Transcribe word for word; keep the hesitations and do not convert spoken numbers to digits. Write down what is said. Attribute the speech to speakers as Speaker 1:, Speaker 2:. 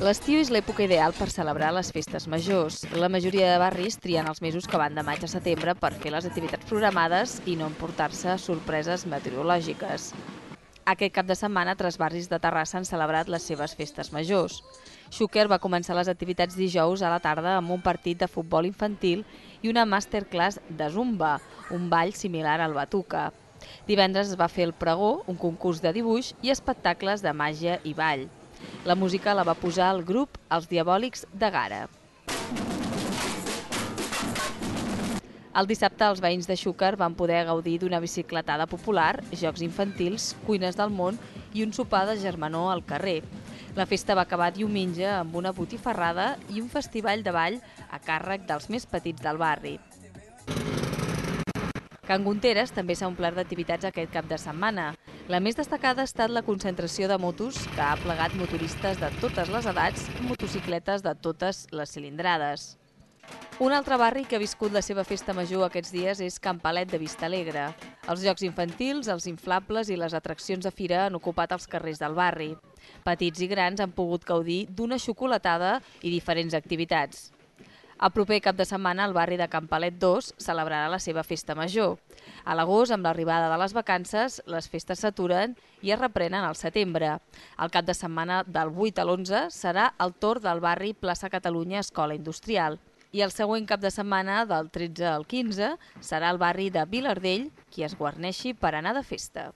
Speaker 1: L'estiu és l'època ideal per celebrar les festes majors. La majoria de barris trien els mesos que van de maig a setembre per fer les activitats programades i no emportar-se sorpreses meteorològiques. Aquest cap de setmana, tres barris de Terrassa han celebrat les seves festes majors. Xúquer va començar les activitats dijous a la tarda amb un partit de futbol infantil i una masterclass de zumba, un ball similar al batuca. Divendres es va fer el pregó, un concurs de dibuix i espectacles de màgia i ball. La música la va posar el grup Els Diabòlics de Gara. El dissabte els veïns de Xúquer van poder gaudir d'una bicicletada popular, jocs infantils, cuines del món i un sopar de germanor al carrer. La festa va acabar diumenge amb una botifarrada i un festival de ball a càrrec dels més petits del barri. Can Gunteres també s'ha omplert d'activitats aquest cap de setmana. La més destacada ha estat la concentració de motos que ha plegat motoristes de totes les edats i motocicletes de totes les cilindrades. Un altre barri que ha viscut la seva festa major aquests dies és Can Palet de Vistalegre. Els jocs infantils, els inflables i les atraccions de fira han ocupat els carrers del barri. Petits i grans han pogut gaudir d'una xocolatada i diferents activitats. El proper cap de setmana, el barri de Can Palet dos celebrarà la seva festa major. A l'agost, amb l'arribada de les vacances, les festes s'aturen i es reprenen al setembre. El cap de setmana del vuit a l'onze serà el torn del barri Plaça Catalunya Escola Industrial. I el següent cap de setmana, del tretze al quinze, serà el barri de Vilardell qui es guarneixi per anar de festa.